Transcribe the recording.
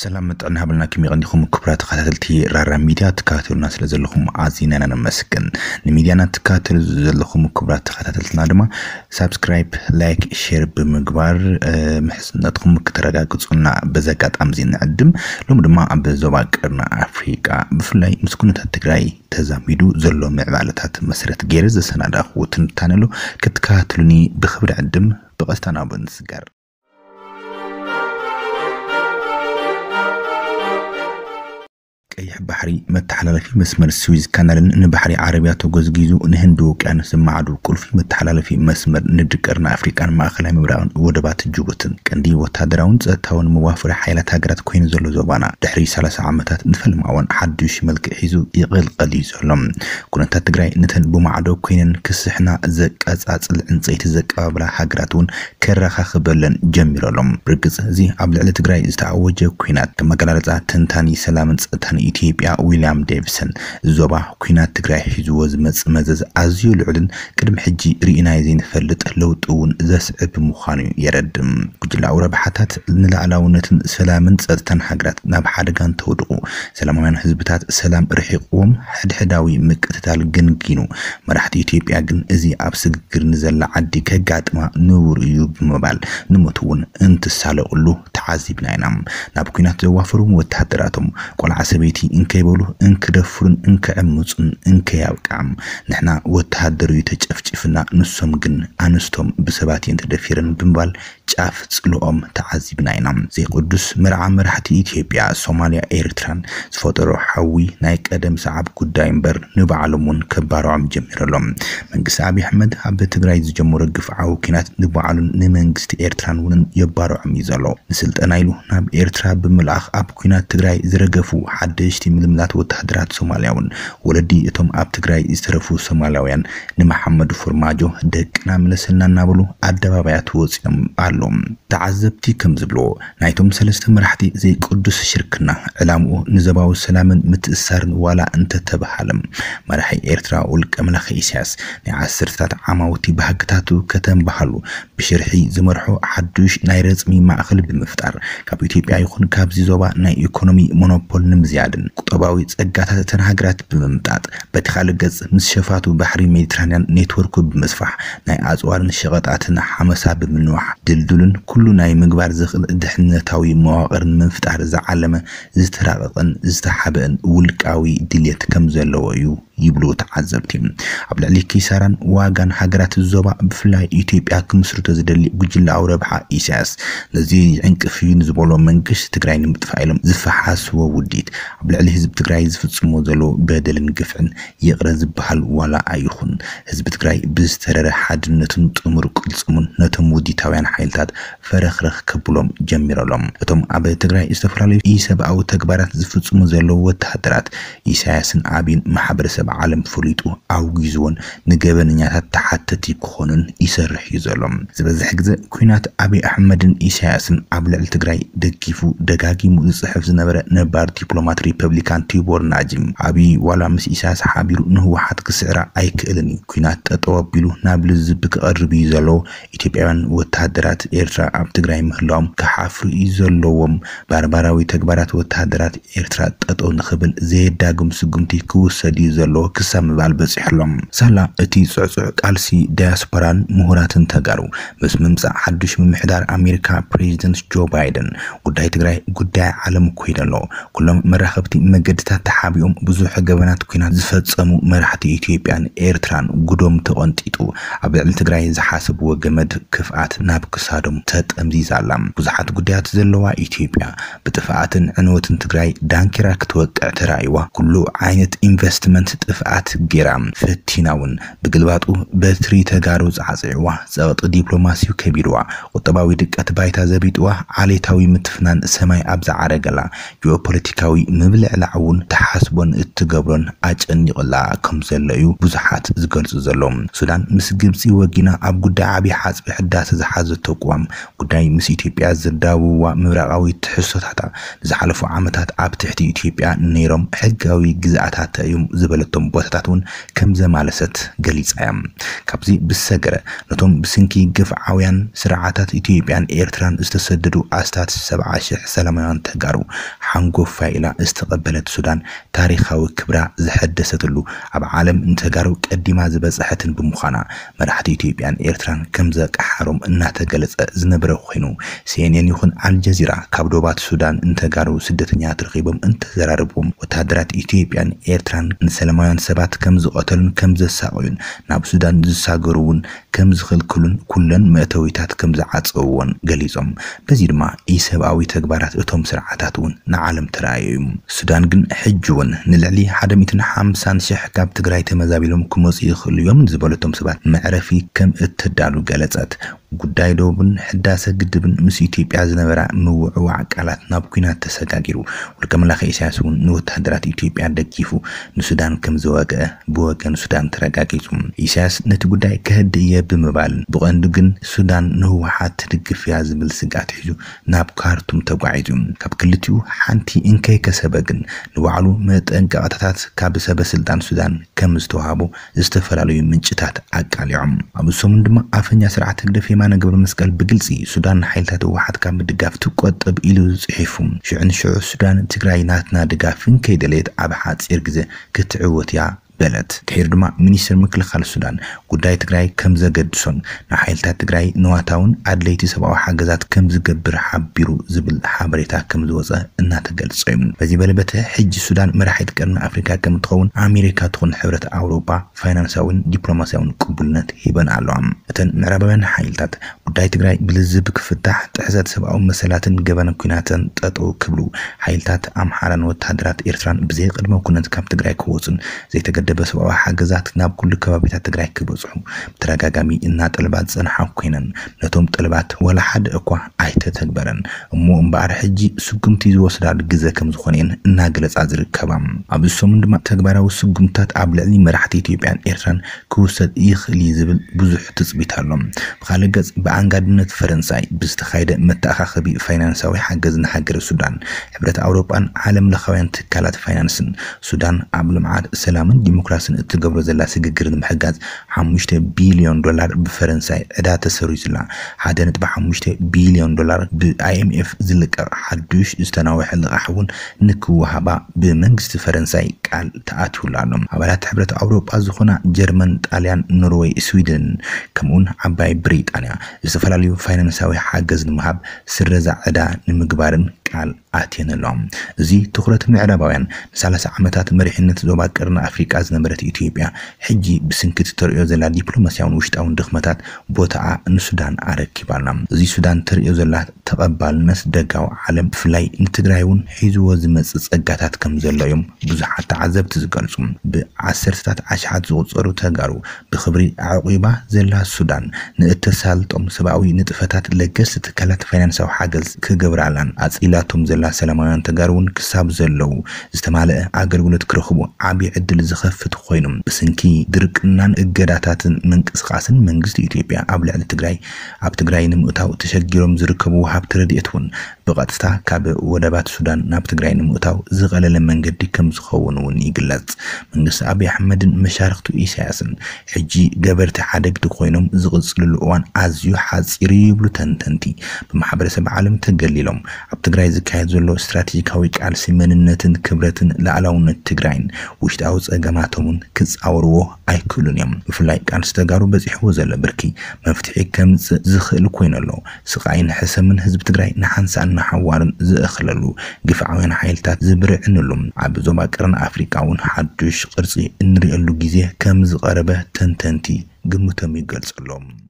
ሰላም ጥዕና ሃብልና፣ ከመይ ቀኒኹም ክቡራት ተኸታተልቲ ራራ ሚድያ? ትከታተሉና ስለ ዘለኹም ኣዚና ኢና ነመስግን። ንሚድያና ትከታተሉ ዘለኹም ክቡራት ተኸታተልትና ድማ ሳብስክራይብ፣ ላይክ፣ ሼር ብምግባር፣ እ፣ ምሕዝነትኩም ክተረጋግጹና በዚ ኣጋጣሚ እዚ ንዕድም። ሎሚ ድማ ኣብ ዞባ ቀርኒ ኣፍሪቃ ብፍላይ ምስ ኩነታት ትግራይ ተዛሚዱ ዘሎ ምዕባለታት መሰረት ገይረ ዘሰናዳእኩዎ ትንታነ ኣሎ። ክትከታተሉኒ ብኽብሪ ዕድም። ብቐጥታ ናብኡ ንስገር። ቀይሕ ባሕሪ መተሓላለፊ መስመር ስዊዝ ካናልን ንባሕሪ ዓረብያ ተጎዝጊዙ ንህንዲ ውቅያኖስ ዝመዓዱ ቁልፊ መተሓላለፊ መስመር ንግዲ ቀርኒ ኣፍሪቃን ማእኸላይ ምብራቕን ወደባት ጅቡትን ቀንዲ ወታደራውን ጸጥታውን መዋፈሪ ሓይላት ሃገራት ኮይኑ ዘሎ ዞባና ድሕሪ ሰላሳ ዓመታት ንፈልማዋን ሓዱሽ መልክዕ ሒዙ ይቕልቀል እዩ ዘሎ። ኩነታት ትግራይ ነተን ብማዕዶ ኮይነን ክስሕና ዘቀጻጽል ዕንጸይቲ ዘቀባብላ ሃገራት እውን ከረኻኽበለን ጀሚሩ ኣሎ። ብርግጽ እዚ ኣብ ልዕሊ ትግራይ ዝተኣወጀ ኲናት ከም ኣገላልጻ ተንታኒ ሰላምን ጸጥታን ኢትዮጵያ ዊልያም ዴቪሰን፣ እዚ ዞባ ኲናት ትግራይ ሒዝዎ ዝመጽእ መዘዝ ኣዝዩ ልዑልን ቅድሚ ሕጂ ርኢናዮ ዘይንፈልጥ ለውጢ እውን ዘስዕብ ምዃኑ የረድእ። ጉጅላዊ ረብሓታት ንላዕላውነትን ሰላምን ጸጥታን ሃገራት ናብ ሓደጋ እንተውድቑ፣ ሰላማውያን ህዝብታት ሰላም ርሒቕዎም ሕድሕዳዊ ምቅትታል ገንጊኑ፣ መራሕቲ ኢትዮጵያ ግን እዚ ኣብ ስግግር ንዘላ ዓዲ ከጋጥማ ንቡር እዩ ብምባል ንሞት እውን እንትሳለቕሉ ተዓዚብና ኢና። ናብ ኲናት ዘዋፈሩ ወተሃደራቶም ቆልዓ ሰበይቲ እንከይበሉ እንክደፍሩን እንክዕምጹን እንከያብቅዓም፣ ንሕና ወተሃደር እዩ ተጨፍጭፍና፣ ንሶም ግን ኣንስቶም ብሰባት እየን ተደፊረን ብምባል ጫፍ ጽልኦም ተዓዚብና ኢና። ዘይቅዱስ መርዓ መራሕቲ ኢትዮጵያ፣ ሶማልያ፣ ኤርትራን ዝፈጠሮ ሓዊ ናይ ቀደም ሰዓብ ጉዳይ እምበር ንባዕሎም እውን ከባርዖም ጀሚሩ ኣሎ። መንግስቲ ኣብይ ኣሕመድ ኣብ ትግራይ ዝጀመሮ ግፍዓዊ ኲናት ንባዕሉን ንመንግስቲ ኤርትራን እውን የባርዖም እዩ ዘሎ። ንስልጠና ኢሉ ናብ ኤርትራ ብምልኣኽ ኣብ ኲናት ትግራይ ዝረገፉ ሓደሽቲ ምልምላት ወተሃደራት ሶማልያ እውን ወለዲ እቶም ኣብ ትግራይ ዝተረፉ ሶማላውያን ንመሓመድ ፎርማጆ ደቅና ምለሰልና እናበሉ ኣደባባያት ወፂኦም ኣለዉ። ተዓዘብቲ ከም ዝብልዎ ናይቶም ሰለስተ መራሕቲ ዘይቅዱስ ሽርክና ዕላምኡ ንዞባዊ ሰላምን ምትእስሳርን ዋላ እንተተበሃለ መራሒ ኤርትራ ውልቀ መላኺ ኢሳያስ ናይ ዓሰርተታት ዓማውቲ ባህግታቱ ከተንበሃሉ ብሽርሒ ዝመርሖ ሓዱሽ ናይ ረጽሚ ማእኸል ብምፍጣር ካብ ኢትዮጵያ ይኹን ካብዚ ዞባ ናይ ኢኮኖሚ ሞኖፖል ንምዝያድን ቁጠባዊ ጸጋታት እተን ሃገራት ብምምጣጥ በቲ ካልእ ገጽ ምስ ሸፋቱ ባሕሪ ሜዲትራንያን ኔትወርኩ ብምስፋሕ ናይ ኣጽዋርን ሸቐጣትን ሓመሳ ብምንዋሕ ድልዱልን ኩሉ ናይ ምግባር ዝኽእል ድሕነታዊ መዋቕር ንምፍጣር ዝዓለመ ዝተራቐቐን ዝተሓበአን ውልቃዊ ድልየት ከም ዘለዎ እዩ ይብሉ ተዓዘብቲ። ኣብ ልዕሊ ኪሳራን ዋጋን ሃገራት ዞባ ብፍላይ ኢትዮጵያ ክምስርቶ ዝደሊ ጉጅላዊ ረብሓ ኢሳያስ ነዚ ይዕንቅፍ እዩ ንዝበሎ መንግስቲ ትግራይ ንምጥፋእ ኢሎም ዝፈሓስዎ ውዲት ኣብ ልዕሊ ህዝቢ ትግራይ ዝፍጽሞ ዘሎ በደልን ግፍዕን ይቕረ ዝበሃል ዋላ ኣይኹን። ህዝቢ ትግራይ ብዝተረረ ሓድነቱን ጥሙር ቅልጽሙን ነቶም ውዲታውያን ሓይልታት ፈረኽረኽ ከብሎም ጀሚሩ ኣሎ። እቶም ኣብ ትግራይ ዝተፈላለዩ ኢሰብኣዊ ተግባራት ዝፍጽሙ ዘለዉ ወተሃደራት ኢሳያስን ኣብይን ማሕበረሰብ ዓለም ፈሊጡ ኣውጊዝዎን ንገበነኛታት ተሓተቲ ክኾኑን ይሰርሕ እዩ ዘሎ። ዝበዝሕ ግዜ ኲናት ኣብይ ኣሕመድን ኢሳያስን ኣብ ልዕሊ ትግራይ ደጊፉ ደጋጊሙ ዝጽሕፍ ዝነበረ ነባር ዲፕሎማት ሪፐብሊካን ቲቦር ናጂ ኣብይ ዋላ ምስ ኢሳያስ ሓቢሩ ንህወሓት ክስዕራ ኣይክእልን እዩ። ኲናት ጠጠው ኣቢሉ ናብ ልዝብ ክቐርብ እዩ ዘለዎ። ኢትዮጵያውያን ወተሃደራት ኤርትራ ኣብ ትግራይ ምህላዎም ክሓፍሩ እዩ ዘለዎም። ባርባራዊ ተግባራት ወተሃደራት ኤርትራ ጠጠው ንኽብል ዘየዳግም ስጉምቲ ክውሰድ እዩ ዘለዎ ክሳብ ምባል በጺሑ ኣሎ። ሳላ እቲ ጽዕጹዕ ቃልሲ ዳያስፖራን ምሁራትን ተጋሩ ምስ ምምጻእ ሓዱሽ ምምሕዳር ኣሜሪካ ፕሬዚደንት ጆ ባይደን ጉዳይ ትግራይ ጉዳይ ዓለም ኮይኑ ኣሎ። ኩሎም መራኸብቲ መገድታት ተሓቢኦም ብዙሕ ገበናት ኲናት ዝፈጸሙ መራሕቲ ኢትዮጵያን ኤርትራን ጉዶም ተቐንጢጡ ኣብ ልዕሊ ትግራይ ዝሓሰብዎ ገመድ ክፍኣት ናብ ክሳዶም ተጠምዚዛ ኣላ። ብዙሓት ጉዳያት ዘለዋ ኢትዮጵያ ብጥፍኣትን ዕንወትን ትግራይ ዳንኪራ ክትወቅዕ ተራእይዋ ኩሉ ዓይነት ኢንቨስትመንት ጥፍኣት ገይራ ፈቲና እውን ብግልባጡ በትሪ ተጋሩ ጻዕጺዕዋ ጸቕጢ ዲፕሎማሲው ከቢድዋ ቁጠባዊ ድቀት ባይታ ዘቢጥዋ ዓሌታዊ ምትፍናን ሰማይ ኣብ ዝዓረገላ ጂኦፖለቲካዊ ምብልዕላዕ እውን ትሓስቦን እትገብሮን ኣጨኒቕላ ከም ዘሎ እዩ ብዙሓት ዝገልጹ ዘለዉ። ሱዳን ምስ ግብጺ ወጊና ኣብ ጉዳይ ዓብዪ ሓጽቢ ሕዳሰ ዝሓዘቶ ቅዋም ጉዳይ ምስ ኢትዮጵያ ዘዳውብዋ ምብራቓዊ ትሕዝቶታታ ንዝሓለፉ ዓመታት ኣብ ትሕቲ ኢትዮጵያ ነይሮም ሕጋዊ ግዝኣታታ እዮም ዝበለት እቶም ቦታታት እውን ከም ዘማለሰት ገሊጻ እያ። ካብዚ ብሰገረ፣ ነቶም ብስንኪ ግፍዓውያን ስርዓታት ኢትዮጵያን ኤርትራን ዝተሰደዱ ኣስታት ሰብዓ ሽሕ ሰላማውያን ተጋሩ ሓንጎፋይ ኢላ ዝተቐበለት ሱዳን፣ ታሪኻዊ ክብራ ዘሐደሰትሉ፣ ኣብ ዓለም ንተጋሩ ቀዲማ ዝበጽሐትን ብምዃና፣ መራሕቲ ኢትዮጵያን ኤርትራን ከም ዘቀሓሮም እናተገለጸ ዝነበረ ኮይኑ፣ ሲ ኤን ኤን ይኹን ኣልጀዚራ ካብ ዶባት ሱዳን ንተጋሩ ስደተኛታት ረኺቦም እንተዘራረብዎም፣ ወታደራት ኢትዮጵያን ኤርትራን ንሰላማውያን ሰባት ከም ዝቐተሉን ከም ዘሳቐዩን፣ ናብ ሱዳን ዝሳገሩ እውን ከም ዝኽልክሉን ኩለን መእተዊታት ከም ዝዓጸውዎን ገሊጾም። በዚ ድማ ኢሰብኣዊ ተግባራት እቶም ስርዓታት እውን ንዓለም ተራእዮ እዩ። ሱዳን ግን ሕጂ እውን ንልዕሊ ሓደ ሚእትን ሓምሳን ሽሕ ካብ ትግራይ ተመዛቢሎም ክመጹ ይኽእሉ እዮም ዝበለቶም ሰባት መዕረፊ ከም እተዳሉ ገለጸት። ጉዳይ ዶብን ሕዳሰ ግድብን ምስ ኢትዮጵያ ዝነበራ ምውዕዋዕ ቃላት ናብ ኲናት ተሰጋጊሩ። ውልቀ መላኺ ኢሳያስ እውን ንወታደራት ኢትዮጵያ ደጊፉ ንሱዳን ከም ዝወግአ ብወገን ሱዳን ተረጋጊጹ። ኢሳያስ ነቲ ጉዳይ ከህድእ እየ ብምባል፣ ብቐንዱ ግን ሱዳን ንህወሓት ትድግፍ እያ ዝብል ስግኣት ሒዙ ናብ ካርቱም ተጓዒዙ። ካብ ክልቲኡ ሓንቲ እንከይከሰበ ግን፣ ንባዕሉ መጠንቀቕታታት ካብ ሰበ ስልጣን ሱዳን ከም ዝተዋህቦ ዝተፈላለዩ ምንጭታት ኣቃሊዖም። ኣብ ሰሙን ድማ ኣፈኛ ስርዓት ህግደፍ የማነ ገብረ መስቀል ብግልጺ ሱዳን ንሓይልታት ህወሓት ካብ ምድጋፍ ትቆጠብ ኢሉ ጽሒፉ። ሽዑ ንሽዑ ሱዳን ትግራይ ናትና ድጋፍ እንከይደለየት ኣብ ሓጺር ግዜ ክትዕወት እያ በለት። ድሒሩ ድማ ሚኒስትር ምክልኻል ሱዳን ጉዳይ ትግራይ ከም ዘገድሶን ንሓይልታት ትግራይ ንዋታውን ኣድለይቲ ሰብኣዊ ሓገዛት ከም ዝገብር ሓቢሩ ዝብል ሓበሬታ ከም ዝወጸ እናተገልጸ እዩ። በዚ በለበተ ሕጂ ሱዳን መራሒት ቀርኒ ኣፍሪካ ከም ትኸውን ኣሜሪካ ትኹን ሕብረት ኣውሮፓ ፋይናንሳዊን ዲፕሎማሲያውን ቅቡልነት ሂበን ኣለዋ። እተን ምዕራባውያን ሓይልታት ጉዳይ ትግራይ ብልዝብ ክፍታሕ፣ ጥሕሰት ሰብኣዊ መሰላትን ገበን ኲናትን ጠጠው ክብሉ፣ ሓይልታት ኣምሓራን ወታደራት ኤርትራን ብዘይ ቅድመ ኩነት ካብ ትግራይ ክወጹን ዘይተገደበ ሰብኣዊ ሓገዛት ናብ ኩሉ ከባቢታት ትግራይ ክበጽሑ ብተደጋጋሚ እናጠልባ ዝጸንሓ ኮይነን፣ ነቶም ጠልባት ወላ ሓደ እኳ ኣይተተግበረን። እሞ እምበኣር ሕጂ ስጉምቲ ዝወስዳሉ ግዘ ከም ዝኾነ እየን እናገለጻ ዝርከባ። ኣብዚ ሰሙን ድማ ተግባራዊ ስጉምትታት ኣብ ልዕሊ መራሕቲ ኢትዮጵያን ኤርትራን ክውሰድ ይኽእል እዩ ዝብል ብዙሕ ትጽቢት ኣሎ። ብኻልእ ገጽ፣ ብኣንጋድነት ፈረንሳይ ብዝተኻየደ መተኣኻኸቢ ፋይናንሳዊ ሓገዝ ንሃገረ ሱዳን፣ ሕብረት ኣውሮጳን ዓለም ለኻውያን ትካላት ፋይናንስን፣ ሱዳን ኣብ ልምዓት፣ ሰላምን ዲሞክራስን እትገብሮ ዘላ ስግግር ንምሕጋዝ፣ ሓሙሽተ ቢልዮን ዶላር ብፈረንሳይ ዕዳ ተሰሪዙላ። ሓደ ነጥቢ ሓሙሽተ ቢልዮን ዶላር ብ ኣይ ኤም ኤፍ ዝልቀቕ ሓዱሽ ዝተናውሐ ልቓሕ እውን ንክወሃባ ብመንግስቲ ፈረንሳይ ቃል ተኣትዩሉ ኣሎ። ኣባላት ሕብረት ኣውሮጳ ዝኾና ጀርመን፣ ጣልያን፣ ኖርወይ፣ ስዊድን፣ ከምኡውን ዓባይ ብሪጣንያ ዝተፈላለዩ ፋይናንሳዊ ሓገዝ ንምሃብ፣ ስረዛ ዕዳ ንምግባርን ቃል ኣትየን ኣለዋ። እዚ ትኹረት ምዕራባውያን ንሰላሳ ዓመታት መሪሕነት ዞባ ቀርኒ ኣፍሪቃ ዝነበረት ኢትዮጵያ፣ ሕጂ ብስንኪ እቲ ተርእዮ ዘላ ዲፕሎማሲያውን ውሽጣውን ድኽመታት ቦታኣ ንሱዳን ኣረኪባ ኣላ። እዚ ሱዳን ተርእዮ ዘላ ተቐባልነት ደጋዊ ዓለም፣ ብፍላይ ንትግራይ እውን ሒዝዎ ዝመጽእ ጸጋታት ከም ዘሎ እዮም ብዙሓት ተዓዘብቲ ዝገልጹ። ብዓሰርተታት ኣሽሓት ዝቑጸሩ ተጋሩ ብኽብሪ ኣዕቂባ ዘላ ሱዳን፣ ንእተሳልጦም ሰብኣዊ ንጥፈታት ለገስቲ ትካላት ፋይናንሳዊ ሓገዝ ክገብራላን ኣጽሊላቶም ዘላ ሰላማውያን ተጋሩ እውን ክሳብ ዘለዉ ዝተማልአ ኣገልግሎት ክረኽቡ ዓቢ ዕድል ዝኸፍት ኮይኑ፣ ብስንኪ ድርቅናን እገዳታትን ምንቅስቓስን መንግስቲ ኢትዮጵያ ኣብ ልዕሊ ትግራይ፣ ኣብ ትግራይ ንምእታው ተሸጊሮም ዝርከቡ ወሃብቲ ረድኤት እውን ብቐጥታ ካብ ወደባት ሱዳን ናብ ትግራይ ንምእታው ዝቐለለ መንገዲ ከም ዝኸውን እውን ይግለጽ። መንግስቲ ኣብይ ኣሕመድን መሻርኽቱ ኢሳያስን ሕጂ ገበርቲ ሓደግቲ ኮይኖም ዝቕጽልሉ እዋን ኣዝዩ ሓጺር እዩ ይብሉ ተንተንቲ። ብማሕበረሰብ ዓለም ተገሊሎም፣ ኣብ ትግራይ ዝካየድ ዘሎ ስትራቴጂካዊ ቃልሲ መንነትን ክብረትን ሉዓላውነት ትግራይን ውሽጣዊ ጸገማቶምን ክጻወርዎ ኣይክእሉን እዮም። ብፍላይ ቃልሲ ተጋሩ በጺሕዎ ዘሎ ብርኪ መፍትሒ ከምጽእ ዝኽእል ኮይኑ ኣሎ። ስቓይን ሕሰምን ህዝቢ ትግራይ ንሓንሳእን ንሓዋሩን ዝእኽለሉ፣ ግፍዓውያን ሓይልታት ዝብርዕንሉ፣ ኣብ ዞባ ቀርኒ ኣፍሪቃ እውን ሓዱሽ ቅርጺ እንርእየሉ ግዜ ከም ዝቐረበ ተንተንቲ ግምቶም ይገልጹ ኣለዉ።